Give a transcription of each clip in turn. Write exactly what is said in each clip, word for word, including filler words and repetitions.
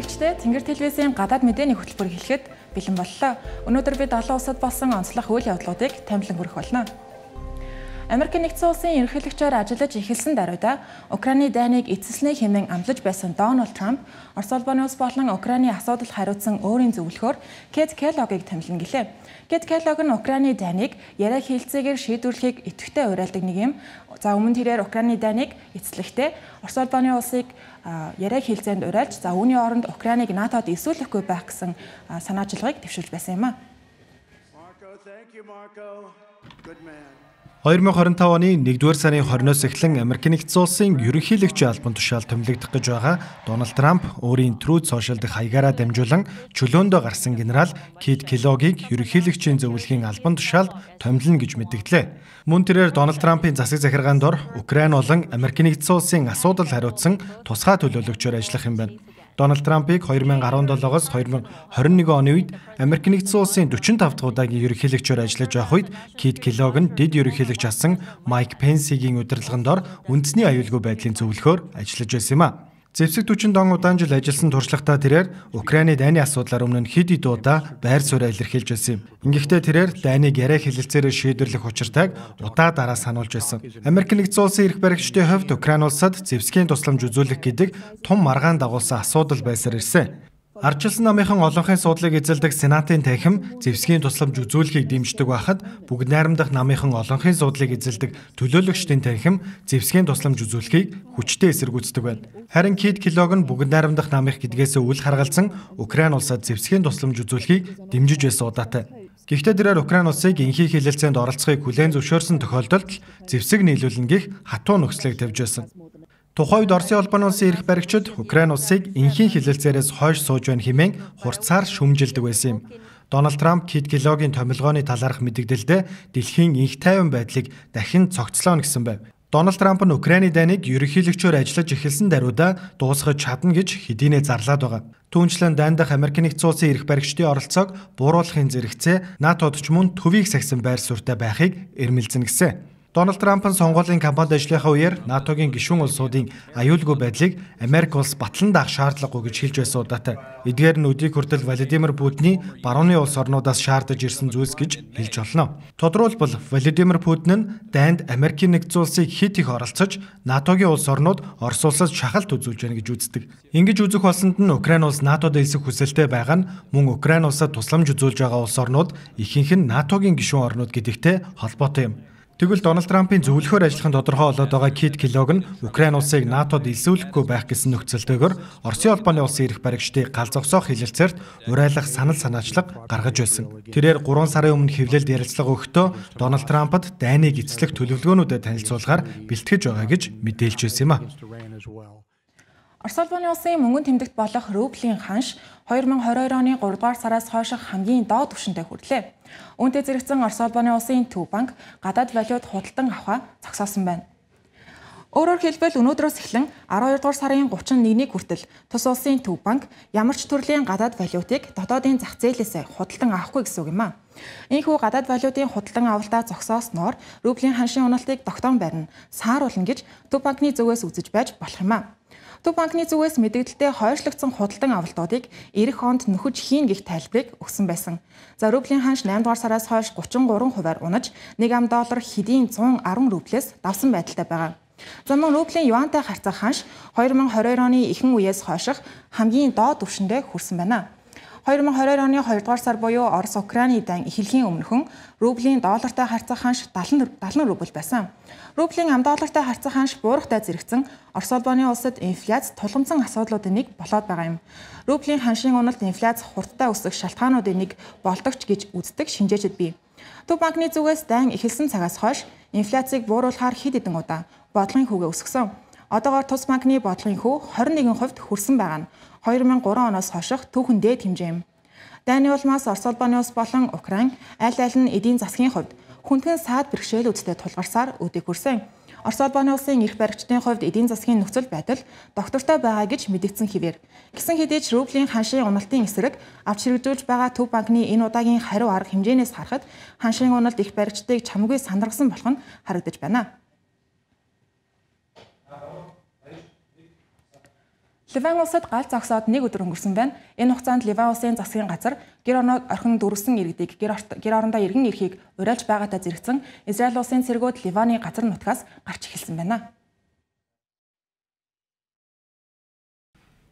үзэгчдээ Тэнгэр телевизийн гадаад мэдээний хөтөлбөр эхлэхэд бэлэн боллоо. Өнөөдөр бид олон улсад болсон онцлог үйл явдлуудыг танилцуулан хүргэх болно. Америк нэгдсэн улсын ерөнхийлөгчөөр ажиллаж эхэлсэн даруйда Украины дайныг эцэслэнэ хэмээн амлаж байсан Дональд Трамп Орос улбаны улс болон Украины асуудал хариуцсан өөрийн зөвлөхөөр Кэт Келлогийг томилно гэлээ. Кэт Келлог нь Украины дайныг яриа хэлцээгээр шийдвэрлэхийг идэвхтэй уриалдаг нэг юм. За өмнө тэрээр Украины дайныг эцэслэхдээ Орос улбаны улсыг яриа хэлцээнд уриалж за үүний оронд Украиныг НАТОд эсвүүлэхгүй байх гэсэн санаачилгааг дэвшүүлж байсан юм а. хоёр мянга хорин тав оны нэгдүгээр сарын хойноос эхлэн Америк нэгдсэн улсын ерөнхийлөгчийн албан тушаал томилогдох гэж байгаа Дональд Трамп өөрийн Truth Social дэх хаягаараа дамжуулан чөлөөндөө гарсан генерал Кэт Келлогийг ерөнхийлөгчийн зөвлөхийн албан тушаалд томилно гэж мэдгдлээ. Мөн тэрээр Дональд Трампын засаг захиргаан дор Украин болон Америк нэгдсэн улсын асуудал хариуцсан тусгай төлөөлөгчөөр ажиллах юм байна. Дональд Трампыг хоёр мянга арван долоогоос хоёр мянга хорин нэгэн оны үед Америк нэгдсэн улсын дөрвөн тав дахь удаагийн ерөнхийлөгчөөр ажиллаж байх үед Кэт Келлог нь дэд ерөнхийлөгч асан Майк Пенсигийн удирдлагын дор үндэсний аюулгүй байдлын зөвлөхөөр ажиллаж байсан юм а. Зэвсэг түвшин дон удаан жил ажилласан туршлагатай тэрээр Украины дайны асуудлаар өмнө нь хэд хэд удаа байр сууриа илэрхийлж байсан юм. Ингэхдээ тэрээр дайныг яриа хэлэлцээрээр шийдвэрлэх учиртайг удаа дараа сануулж байсан. Америк нэгдсэн улсын эрх баригчдын хувьд Украин улсад зэвсгийн тусламж үзүүлэх гэдэг тун маргаан дагуулсан асуудал байсаар ирсэн. Ардчилсан намынхан олонхын суудлыг эзэлдэг Сенатын танхим зэвсгийн тусламж үзүүлэхийг дэмждэг байхад бүгд найрамдах намынхан олонхын суудлыг эзэлдэг төлөөлөгчдийн танхим зэвсгийн тусламж үзүүлэхийг хүчтэй эсэргүүцдэг байна. Харин Кэт Келлог нь бүгд найрамдах намынх гэдгээс үл харгалзан Украин улсад зэвсгийн тусламж үзүүлэхийг дэмжиж байсан удаатай. Гэхдээ тэрээр Украин улсыг энхий хэлэлцээнд оролцохыг хүлээн зөвшөөрсөн тохиолдолд зэвсэг нийлүүлнэ гэх хатуу нөхцөлийг тавьж байсан. Тухайн үед Оросын улбаны улсын эрх баригчид Украин улсыг энхийн хэлэлцээрээс хойш сууж байна хэмээн хурцаар шүмжилдэг байсан юм. Дональд Трамп Кэт Келлогийн томилгооны талаарх мэдэгдэлдээ дэлхийн энх тайван байдлыг дахин цогцлооно гэсэн байв. Дональд Трамп нь Украины дайныг ерөнхийлөгчөөр ажиллаж эхэлсэн даруйда дуусгаж чадна гэж хэдийнэ зарлаад байгаа. Түүнчлэн дайн дахь Америк нэгдсэн улсын эрх баригчдын оролцоог бууруулахын зэрэгцээ НАТОд ч мөн төвийг сахисан байр суурьтай байхыг эрмэлзэн гисэн. Дональд Трампын сонгуулийн кампанид ажиллахаа үеэр НАТОгийн гишүүн улсуудын аюулгүй байдлыг Америк улс батлан даах шаардлагагүй гэж хэлж байсан удаатай. Эдгээр нь өдийг хүртэл Владимир Путиний барууны улс орнуудаас шаардаж ирсэн зүйлс гэж хэлж болно. Тодорхойлбол Владимир Путин нь дайнд Америк нэгдсэн улсыг хит их оролцож НАТОгийн улс орнууд Орос улсаас шахалт үзүүлж байна гэж үздэг. Ингэж үзэх болсонд нь Украин улс НАТОд элсэх хүсэлтэй байгаа нь мөн Украин улсад тусламж үзүүлж байгаа улс орнууд ихэнх нь НАТОгийн гишүүн орнууд гэдэгтэй холбоотой юм. Тэгвэл Дональд Трампын зөвлөхөөр ажиллахын тодорхой болоод байгаа Кэт Келлог нь Украин улсыг НАТОд элсүүлэхгүй байх гэсэн нөхцөлтэйгээр Оросын улбаны улсын эрх баригчдыг гал зогсоох хэлэлцээрт урайлах санал санаачлага гаргаж байсан. Тэрээр гурван сарын өмнө хэвлэлд ярилцлага өгөхдөө Дональд Трампд дайныг эцэслэх төлөвлөгөөнүүдэд танилцуулахаар бэлтгэж байгаа гэж мэдээлж байсан юм а. Орос улбаны улсын мөнгөн тэмдэгт болох рублийн ханш хоёр мянга хорин хоёр оны гуравдугаар сараас хойш хамгийн доод түвшинтэй хүрлээ. Үүнтэй зэрэгцэн Орос улбаны улсын Төв банк гадаад валют худалдан авахаа зогсоосон байна. Өөрөөр хэлбэл өнөөдрөөс эхлэн арван хоёрдугаар сарын гуравчны нэгний хүртэл тус улсын Төв банк ямар ч төрлийн гадаад валютыг дотоодын зах зээлээс худалдан авахгүй гэсэн үг юм а. Ийхүү гадаад валютын худалдан авалтаа зогсоосноор рублийн ханшийн уналтыг тогтоон барина, сааруулна гэж Төв банкны зүгээс үзэж байж болох юм а. Төв банкны зүгээс мэдээлэлтэй хойшлогдсон худалдан авалтуудыг эх онд нөхөж хийн гэх тайлбарыг өгсөн байсан. За рублийн ханш наймдугаар сараас хойш гучин гурван хувиар унаж нэг ам доллар хэдийн зуун арван рублээс давсан байдалтай байгаа. За мөн рублийн юантай харьцах ханш хоёр мянга хорин хоёр оны ихэнх үеэс хойших хамгийн доод түвшиндээ хүрсэн байна. хоёр мянга хорин хоёр оны хоёрдугаар сар буюу Орос Украины дан эхлэхийн өмнөхөн рублийн доллартай харьцах ханш дагалан рубль байсан. Рублийн ам доллартай харьцах ханш буурахтай зэрэгцэн Орос улбаны улсад инфляц тулгамдсан асуудлуудын нэг болоод байгаа юм. Рублийн ханшийн уналт инфляц хурдтай өсөх шалтгаануудын нэг болдогч гэж үздэг шинжээчид бий. Төв банкны зүгээс дайн эхэлсэн цагаас хойш инфляцийг бууруулахаар хэд хэдэн удаа бодлогын хүүгээ өсгсөн. Одоогоор тус банкны бодлогын хүү хорин нэгэн хувьд хүрсэн байгаа нь хоёр мянга гурван оноос хойших түүхэн дээд хэмжээ юм. Дайны улмаас Орос улбаны улс болон Украин аль аль нь эдийн засгийн хувьд хүндхэн саад бэрхшээлүүдтэй тулгарсаар өдийг хүрсэн. Орос улбаны улсын эрх баригчдын хувьд эдийн засгийн нөхцөл байдал доктортой байгаа гэж мэдэгдсэн хэвээр. Гэсэн хэдий ч рублийн ханшийн уналтын эсрэг авч хэрэгжүүлж байгаа Төв банкны энэ удаагийн хариу арга хэмжээнээс харахад ханшийн уналт эрх баригчдыг чамгүй сандаргасан болох нь харагдаж байна. Ливан улсад гал зогсоод нэг өдөр өнгөрсөн байна. Энэ хугацаанд Ливан улсын засгийн газар гэр орноо орхин дөрвсөн иргэдийг гэр орондоо иргэн ирэхийг уриалж байгаатай зэрэгцэн Израиль улсын цэргүүд Ливаны газар нутгаас гарч эхэлсэн байна.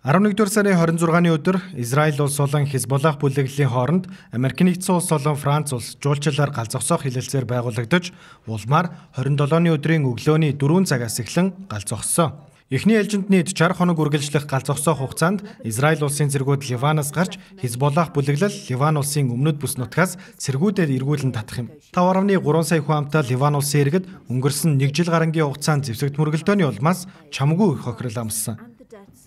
арваннэгдүгээр сарын хорин зургааны өдөр Израиль улс болон Хизболлах бүлэглэлийн хооронд Америк нэгдсэн улс болон Франц улс жуулчлалаар гал зогсоох хэлэлцээр байгуулагдаж, улмаар хорин долооны өдрийн өглөөний дөрвөн цагаас эхлэн гал зогссон. Эхний ээлжинд нийт чарх хоног үргэлжлэх гал зогсоох хугацаанд Израиль улсын цэргүүд Ливанаас гарч Хизболлах бүлэглэл Ливан улсын өмнөд бүс нутгаас цэргүүдэд эргүүлэн татах юм. таван гаруй гурван сая хүн амтай Ливан улсын иргэд өнгөрсөн нэг жил гарангийн хугацаанд зэвсэгт мөргөлдөөний улмаас чамгүй их хохирол амссан.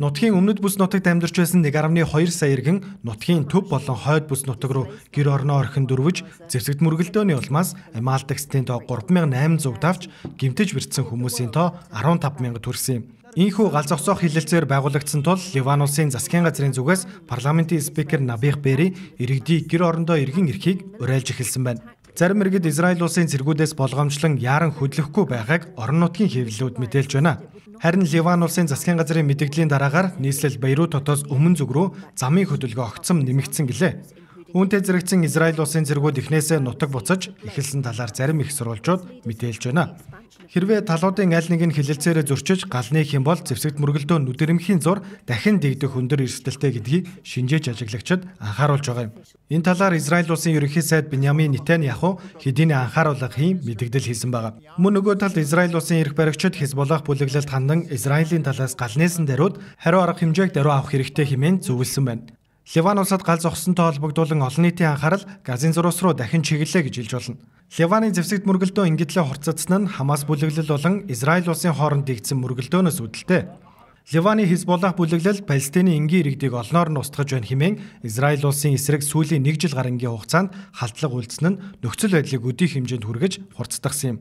Нутгийн өмнөд бүс нутагт амьдарч байсан нэг гаруй хоёр сая иргэн нутгийн төв болон хойд бүс нутаг руу гэр орноо орхин дөрвөж зэвсэгт мөргөлдөөний улмаас Амаалтагчдын тоо гурван мянган найман зуун давж гэмтэж бэртсэн хүмүүсийн тоо арван таван мянга төрсөн юм. Ийхүү гал зогсоох хэлэлцээр байгуулагдсан тул Ливан улсын засгийн газрын зүгээс парламентын спикер Набих Берри иргэдийг гэр орондоо эргэн ирэхийг уриалж эхэлсэн байна. Зарим иргэд Израиль улсын цэргүүдээс болгоомжлон яаран хөдлөхгүй байгааг орон нутгийн хэвлэлүүд мэдээлж байна. Харин Ливан улсын засгийн газрын мэдээллийн дараагаар нийслэл Бейрут хотоос өмнө зүг рүү замын хөдөлгөөн огцом нэмэгдсэн гэлээ. Үүнтэй зэрэгцэн Израиль улсын цэргүүд эхнээсээ нутаг буцаж эхэлсэн талаар зарим их сурвалжууд мэдээлж байна. Хэрвээ талуудын аль нэг нь хэлэлцээрээ зөрчиж гал нээх юм бол зэвсэгт мөргөлдөө нүдэрэмхийн зур дахин дэгдэх өндөр эрсдэлтэй гэдгийг шинжээж ажиглагчид анхааруулж байгаа юм. Энэ талаар Израиль улсын ерөнхий сайд Биньямин Нетаньяху хэдийнэ анхааруулга хийн мэдэгдэл хийсэн байгаа. Мөн нөгөө талд Израиль улсын эрх баригчид Хизболлах бүлэглэлд хандан Израилийн талаас гал нээсэн даруйд хариу арга хэмжээг даруй авах хэрэгтэй хэмээн зөвлөсөн байна. Ливан улсад гал зогссонтой холбогдуулан олон нийтийн анхаарал Газын зурус руу дахин чиглэлээ гэж хэлж болно. Ливаны зэвсэгт мөргөлдөө ингэтлээ хурццсан нь Хамас бүлэглэл болон Израиль улсын хооронд дэгдсэн мөргөлдөөнөөс үүдэлтэй. Ливаны Хизболлах бүлэглэл Палестины энгийн иргэдийг олноор нь устгаж байна хэмээн Израиль улсын эсрэг сүүлийн нэг жил гарангийн хугацаанд халдлага үйлдсэн нь нөхцөл байдлыг өдийх хэмжээнд хүргэж хурцдагсан юм.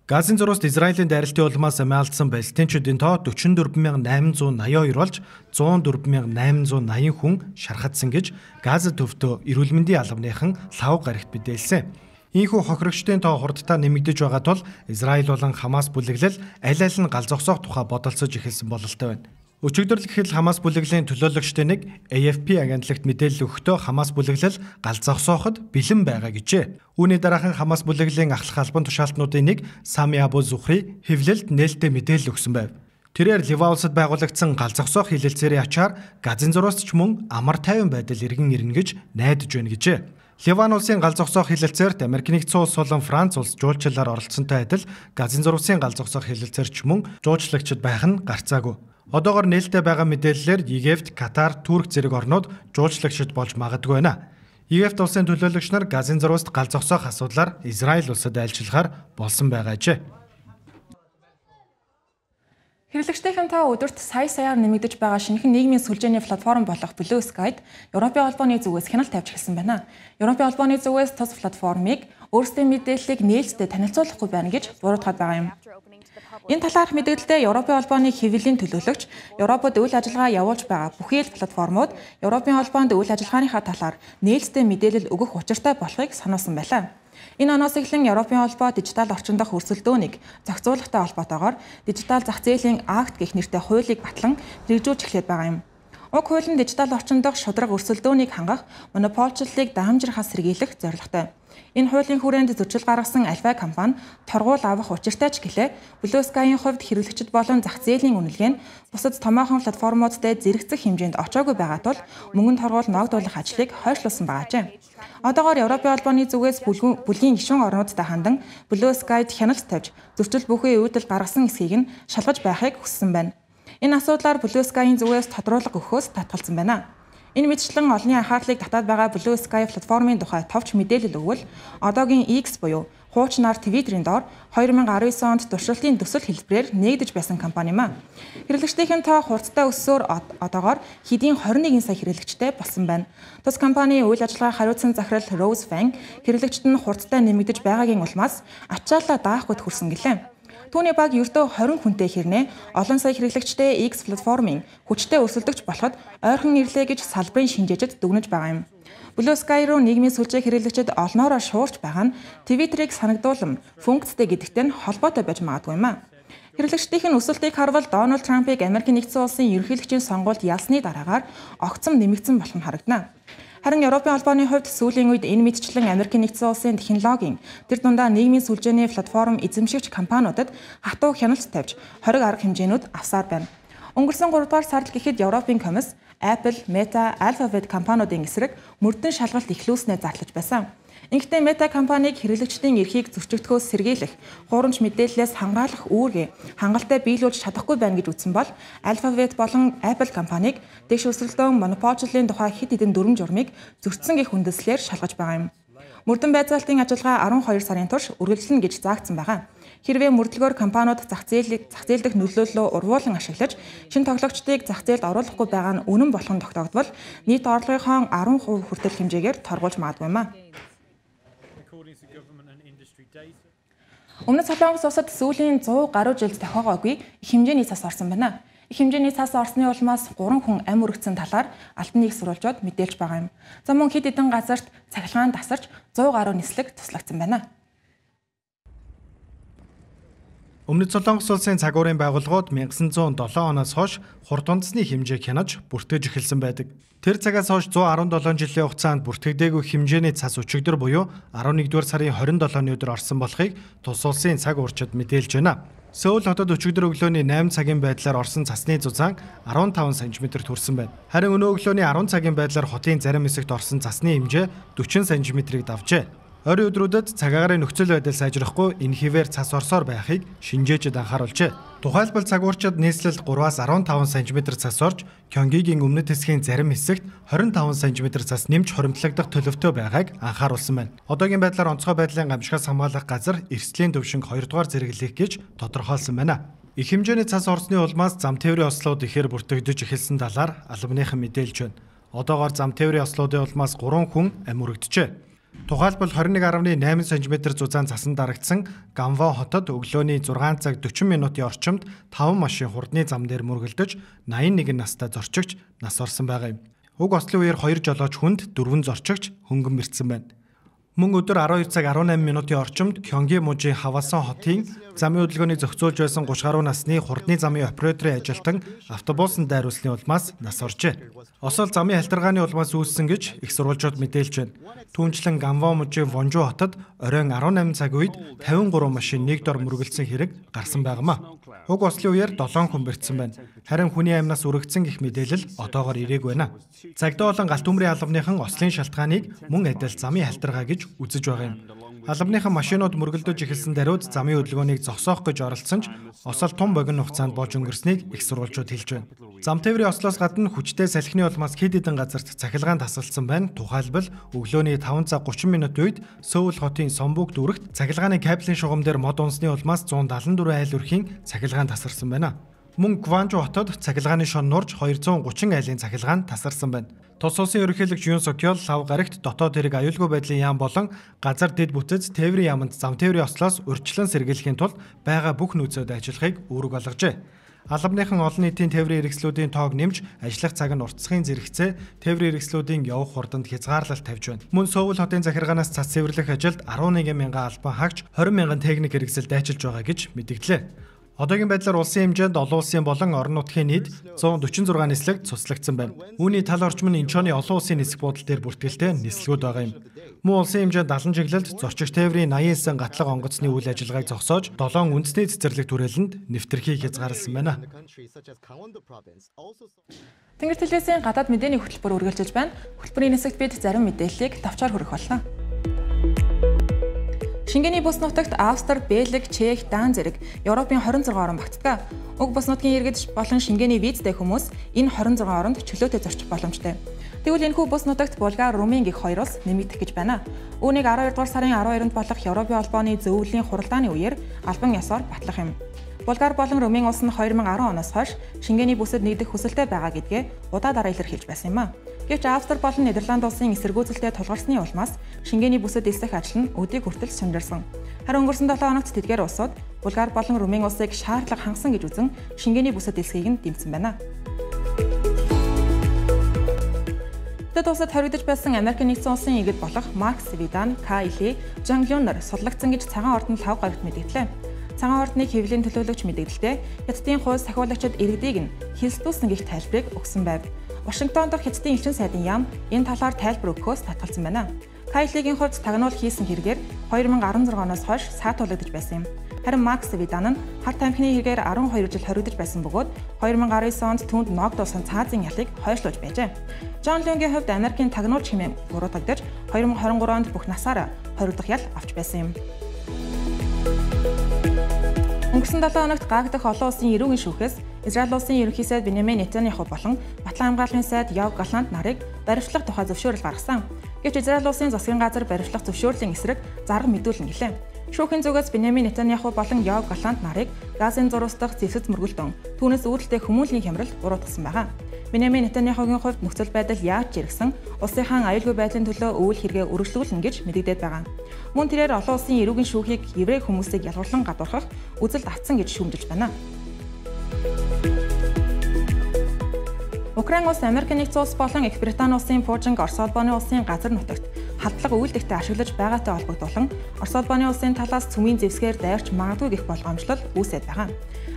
Газын зуруст Израилийн дайралтын улмаас амиалдсан палестинчүүдийн тоо дөрвөн дөрвөн мянган найман зуун наяа хоёр болж зуун дөрвөн мянган найман зуун наяан хүн шархагдсан гэж Газа төвдөө эрүүл мэндийн албаныхан лав гарагт мэдээлсэн. Ийхүү хохирогчдын тоо хурдтай нэмэгдэж байгаа тул Израиль болон Хамас бүлэглэл аль аль нь гал зогсоох тухай бодолцож эхэлсэн бололтой байна. Өчигдөр л ихэл Хамас бүлэглэлийн төлөөлөгчдөө нэг А Ф П агентлагт мэдээлэл өгөхдөө Хамас бүлэглэл гал зогсооход бэлэн байгаа гэжээ. Үүний дараахан Хамас бүлэглэлийн ахлах албан тушаалтнуудын нэг Сами Абу Зүхри хэвлэлд нээлттэй мэдээлэл өгсөн байв. Тэрээр Ливан улсад байгуулагдсан гал зогсоох хэлэлцээрийн ачаар Газын зуруст ч мөн амар тайван байдал иргэн ирнэ гэж найдаж байна гэжээ. Ливан улсын гал зогсоох хэлэлцээрт Америк нэгдсэн улс болон Франц улс жуулчлалаар оролцсонтой адил Газын зурусын гал зогсоох хэлэлцээр ч мөн жуулчлагчид байх нь гарцаагүй. Одоогоор нээлттэй байгаа мэдээллээр Египт, Катар, Турк зэрэг орнууд жуулчлагчид болж магадгүй байна. Египт улсын төлөөлөгч нар Газын зуруст гал зогсоох асуудлаар Израиль улсад айлчлахаар болсон байгаа ч. Хэрэглэгчдийн та өдөрт сая саяар нэмэгдэж байгаа шинэхэн нийгмийн сүлжээний платформ болох Blue Sky-д Европын холбооны зүгээс хяналт тавьж эхэлсэн байна. Европын холбооны зүгээс тус платформыг өөрсдийн мэдээллийг нээлттэй танилцуулахгүй байна гэж буруутгаад байгаа юм. Энэ талаарх мэдээлэлдээ Европын холбооны хэвлэлийн төлөөлөгч Европод үйл ажиллагаа явуулж байгаа бүхий л платформуд Европын холбоонд үйл ажиллагааныхаа талаар нээлттэй мэдээлэл өгөх учиртай болохыг сануулсан байлаа. Энэ оноос эхлэн Европын холбоо дижитал орчин дахь өрсөлдөөнийг зохицуулахтай холбоотойгоор дижитал зах зээлийн акт гэх нэртэй хуулийг батлан хэрэгжүүлж эхлээд байгаа юм. Уг хууль нь дижитал орчин дахь шудраг өрсөлдөөнийг хангах монополчлалыг даамжирхаас сэргийлэх зорилготой. Энэ хуулийн хүрээнд зөрчил гаргасан альва компани торгуул авах учиртай ч гэлээ Blue Sky-ийн хувьд хэрэглэгчид болон зах зээлийн үнэлгээ нь бусад томоохон платформуудтай зэрэгцэх хэмжээнд очоогүй байгаа тул мөнгөнд торгуул ногдуулах ажлыг хойшлуулсан байжээ. Одоогоор Европын холбооны зүгээс бүлгийн гишүүн орнуудтай хандан Blue Sky-д хяналт тавьж зөрчил бүхий үүдэл гаргасан эсхийг нь шалгаж байхыг хүссэн байна. Энэ асуудлаар Blue Sky-ийн зүгээс тодруулга өгөхөөс татгалзсан байна. Энэ мэтчлэн олонний анхаарлыг татаад байгаа Blue Sky платформын тухай товч мэдээлэл өгвөл одоогийн X буюу хуучнаар Twitter-ийн доор хоёр мянган арван девять онд туршилтын төсөл хэлбэрээр нээгдэж байсан компани юм а. Хэрэглэгчдийн тоо хурдтай өссөөр одоогоор хэдийн хорин нэгэн сая хэрэглэгчтэй болсон байна. Тус компани үйл ажиллагаа хариуцсан захирал Rose Fang хэрэглэгчид нь хурдтай нэмэгдэж байгаагийн улмаас ачааллаа даахгүйд хүрсэн гэлээ. Түүний баг ердөө хорин хүнтэй хэрнээ олон сая хэрэглэгчтэй X платформын хүчтэй өрсөлдөгч болоход ойрхон ирлээ гэж салбарын шинжээчид дүгнэж байгаа юм. Blue Sky руу нийгмийн сүлжээ хэрэглэгчид олноороо шуурч байгаа нь Twitter-ыг санагдуулам функцтэй гэдэгтэй нь холбоотой байж магадгүй юм а. Хэрэглэгчдийн өсөлтийг харвал Дональд Трампыг Америкийн нэгдсэн улсын ерөнхийлөгчийн сонгуульд ялсны дараагаар огцом нэмэгдсэн болох нь харагдана. Харин Европын холбооны хувьд сүүлийн үед энэ мэдчлэн Америкийн нэгдсэн улсын технологийн тэр дундаа нийгмийн сүлжээний платформ эзэмшигч компаниудад хатуу хяналт тавьж хориг арга хэмжээнүүд авсаар байна. Өнгөрсөн гурав дахь сард гэхэд Европын комисс Apple, Meta, Alphabet компаниудын эсрэг мөрдөн шалгалт эхлүүлснээр зарлаж байсан. Ингэхдээ Meta компаниг хэрэглэгчдийн эрхийг зөрчигдөхөөс сэргийлэх, хуурамч мэдээллээс хамгаалах үүргээ хангалттай биелүүлж чадахгүй байна гэж үзсэн бол Alphabet болон Apple компаниг дэш өсрөлтөө монополчлын тухай хэд хэдэн дүрм журмыг зөрчсөн гэх үндэслэлээр шалгаж байгаа юм. Мөрдөн байцаалтын ажиллагаа арван хоёр сарын турш үргэлжлэнэ гэж заагдсан байгаа. Хэрвээ мөрдлөгөөр компаниуд зах зээлийг зах зээл дэх нөлөөллөө урвуулан ашиглаж, шинэ тоглогчдыг зах зээлд оруулахгүй байгаа нь үнэн болох нь тогтоогдвол нийт орлогынхон арван хувь хүртэл хэмжээгээр торгуулж магадгүй юм а. Өмнөд Солонгос улсад сүүлийн зуун гаруй жилд тохиогоогүй их хэмжээний цас орсон байна. Их хэмжээний цас орсны улмаас гурван хүн амь өргөцсөн талаар албан нийгсруулжууд мэдээлж байгаа юм. За мөн хэд хэдэн газарт цахилгаан тасарч зуун гаруй нислэг туслагдсан байна. Өмнөд Солонгос улсын цагуурын байгууллагууд 천구백 칠 оноос хойш хурд унтсны хэмжээг хянаж бүртгэж эхэлсэн байдаг. Тэр цагаас хойш one hundred seventeen жилийн хугацаанд бүртгэдэггүй хэмжээний цас өчигдөр буюу eleven-р сарын twenty-seven-ны өдөр орсон болохыг тус улсын цаг уурчид мэдээлж байна. Сөүл хотод өчигдөр өглөөний eight цагийн байдлаар орсон цасны зузаан fifteen сантиметр төрсэн байна. Харин өнөө өглөөний ten цагийн байдлаар хотын зарим хэсэгт орсон цасны хэмжээ forty сантиметрийг давжээ. Ойрын өдрүүдэд цагаагаар нөхцөл байдал сайжрахгүй энэ хിവэр цас орсоор байхыг шинжээчид анхааруулжээ. Тухайлбал цагуурчид нийслэлд three-аас fifteen сантиметр цас орж, Кёнгигийн өмнөд хэсгийн зарим хэсэгт twenty-five сантиметр цас нэмж хоримтлагдах төлөвтэй байгааг анхааруулсан байна. Одоогийн байдлаар онцгой байдлын гамшигаас хамгаалах газар эрсдлийн төвшинг two дугаар зэрэглэх гэж тодорхойлсон байна. Их хэмжээний цас орсны улмаас зам тээврийн ослууд ихээр бүртгэгдэж эхэлсэн талаар албаныхан мэдээлж байна. Одоогоор зам тээврийн ослуудын улмаас three хүн амь өргөдөжээ. Тухайлбал twenty-one point eight сантиметр зузаан цасан дарагдсан Ганвон хотод өглөөний six цаг forty минутын орчимд five машин хурдны зам дээр мөргөлдөж eighty-one настай зорчигч нас орсон байгаа юм. Уг ослын үеэр two жолооч хүнд four зорчигч хөнгөн мэрдсэн байна. Мөн өдөр twelve цаг eighteen минутын орчимд Кёнги мужийн Хавасан хотын замын хөдөлгөөнийг зохицуулж байсан thirty гаруй насны хурдны замын операторын ажилтан автобусын дайруулсны улмаас нас оржээ. Осол замын халтаргааны улмаас үүссэн гэж их сурвалжууд мэдээлж байна. Түүнчлэн Ганвон мужийн Вонжу хотод оройн eighteen цаг үед fifty-three машин нэг дор мөргөлдсөн хэрэг гарсан байнамаа. Уг ослын үеэр seven хүн бэртсэн байна. Харин хүний амьнаас үрэгдсэн гэх мэдээлэл одоогоор ирээгүй байна. Цагдаа болон галт төмрийн албаныхан ослын шалтгааныг мөн адил замын халтаргаа гэж үзэж байгаа юм. Албаныхан машинууд мөргөлдөж эхэлсэн даруйд замын хөдөлгөөнийг зогсоох гэж оролцсон ч осол тун богино хугацаанд болж өнгөрснийг их сурвалжууд хэлж байна. Зам тээврийн ослоос гадна хүчтэй салхины улмаас хэд хэдэн газарт цахилгаан тасалдсан байна. Тухайлбал өглөөний five цаг thirty минутын үед Сөүл хотын Сомбук дүүрэгт цахилгааны кабелийн шугам дээр мод унсны улмаас one seventy-four айл өрхийн цахилгаан тасарсан байна. Мөн Гванжу хотод цахилгааны шон нурж two thirty айлын цахилгаан тасарсан байна. Тус улсын ерөнхийлөгч Юн Сокёл лав гарагт дотоод хэрэг аюулгүй байдлын яам болон газар дэд бүтэц тээврийн яамд зам тээврийн ослоос урьдчилан сэргийлэхийн тулд байгаа бүх нөөцөд ажиллахыг үүрэг болгожээ. Албаныхан олон нийтийн тээврийн хэрэгслүүдийн тоог нэмж ажиллах цаг нь уртасгын зэрэгцээ тээврийн хэрэгслүүдийн явах хурданд хязгаарлалт тавьж байна. Мөн Сөүл хотын захиргаанаас цас цэвэрлэх ажилд eleven мянган албан хаагч twenty мянган техник хэрэгсэл дайчилж байгаа гэж мэдгдлээ. Одоогийн байдлаар улсын хэмжээнд олон улсын болон орон нутгийн нийт one forty-six нислэг цуслагдсан байна. Үүний тал орчим нь Инчоны олон улсын нисэх буудал дээр бүртгэлтэй нислэгүүд байгаа юм. Мөн улсын хэмжээнд далан чиглэлд зорчигч тээврийн eighty-nine гатлаг онгоцны үйл ажиллагааг зогсоож seven үндэсний цэцэрлэг түрээлэнд нэвтрхийг хязгаарласан байна. Тэнгэр телевизийн гадаад мэдээний хөтөлбөр үргэлжилж байна. Хөтөлбөрийн нисэгт бид зарим мэдээллийг товчоор хүргэх болно. Шингээний бүс нутагт Австри, Бельги, Чех, Дан зэрэг Европын twenty-six орн багтдаг. Уг бүс нутгийн иргэд болон шингээний визтэй хүмүүс энэ twenty-six оронд чөлөөтэй зорчих боломжтой. Тэгвэл энэхүү бүс нутагт Булгар, Румын гэх хоёр улс нэмэгдэх гэж байна. Үүнийг twelve дугаар сарын twelve-нд болох Европын холбооны зөвлөлийн хуралдааны үеэр албан ёсоор батлах юм. Булгар болон Румын улс нь twenty ten оноос хойш шингээний бүсэд нэгдэх хүсэлтэй байгаа гэдгээ удаа дараа илэрхийлж байсан юм а. Гэвч Австри болон Нидерланд улсын эсэргүүцэлтэй тулгарсны улмаас шингээний бүсэд элсэх ажил нь өдийг хүртэл сумжирсан. Харин өнгөрсөн seven хоногт тэдгээр улсууд Булгар болон Румын улсыг шаардлага хангасан гэж үзэн шингээний бүсэд элсхийг нь дэмжсэн байна. Тэд улсад хоригдож байсан Америкийн нэгдсэн улсын иргэд болох Марк Свидан, Кайли, Жан Люнер судлагдсан гэж цагаан ордонд лав гарагт мэдгдлээ. Цагаан ордны хэвлэлийн төлөөлөгч мэдээлэлдээ Хятадын хууль сахиулагчид иргэдийг нь хилсдүүлсэн гэх тайлбарыг өгсөн байв. Вашингтон дахь Хятадын элчин сайдын яам энэ талаар тайлбар өгөхөөс татгалзсан байна. Кайлигийн хувьд тагнуул хийсэн хэрэгээр две thousand sixteen оноос хойш саатуулагдаж байсан юм. Харин Макс Видан нь хар тамхины хэрэгээр twelve жил хоригдож байсан бөгөөд two thousand nineteen онд түүнд ногдуулсан цаазын ялыг хойшлуулж байжээ. Жон Люнгийн хувьд Америкийн тагнуулч хэмээн буруутгагдаж two thousand twenty-three онд бүх насаараа хоригдох ял авч байсан юм. Өнгөрсөн seven хоногт Гаг дахь олон улсын эрүүгийн шүүхээс Израиль улсын ерөнхий сайд Беньямин Нетаньяху болон Батлан хамгааллын сайд Йов Галлант нарыг баривчлах тухай зөвшөөрөл гаргасан. Гэвч Израиль улсын засгийн газар баривчлах зөвшөөрлийн эсрэг зарга мэдүүлнэ гэлээ. Шүүхийн зүгээс Беньямин Нетаньяху болон Йов Галлант нарыг Газын зурвас дахь зэвсэц мөргөлдөн түүнээс үүдэлтэй хүмүүнлэгийн хямрал буруутгасан байна. Беньямин Нетаньяхугийн хувьд нөхцөл байдал яаж жиргсэн улсынхаа аюулгүй байдлын төлөө өвөл хэрэгэ өргөжлүүлнэ гэж мэдэгдээд байгаа. Мөн тэрээр олон улсын эрүүгийн шүүхийг еврей хүмүүсийг ялгарлан гадуурхах үзэлд автсан гэж шүүмжилж байна. Украин улс Америк нэгдсэн улс болон Их Британи улсын Пуужинг Орос улбаны улсын газар нутагт халдлага үйлдэгтээ ашиглаж байгаатай холбогдуулан Орос улбаны улсын талаас цөмийн зэвсгээр дайрч магадгүй гэх болгоомжлол үүсээд байгаа.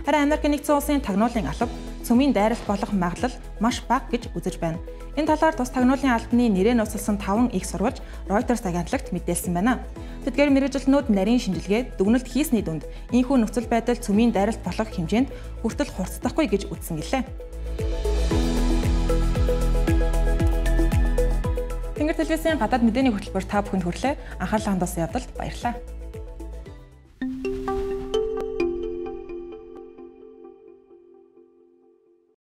Харин Америк нэгдсэн улсын тагнуулын алба цөмийн дайралт болох магадлал маш бага гэж үзэж байна. Энэ талаар тус тагнуулын албаны нэрээр нууцлсан таван их сурвалж Reuters агентлагт мэдээлсэн байна. Тэдгээр мэргэжилтнүүд нарийн шинжилгээ дүгнэлт хийсний дүнд ийхүү нөхцөл байдал цөмийн дайралт болох хэмжээнд хүртэл хурцдахгүй гэж үзсэн гэлээ. Тэнгэр телевизийн гадаад мэдээний хөтөлбөр та бүхэнд хүрлээ. Анхаарлаа хандуулсан явдалд баярлалаа.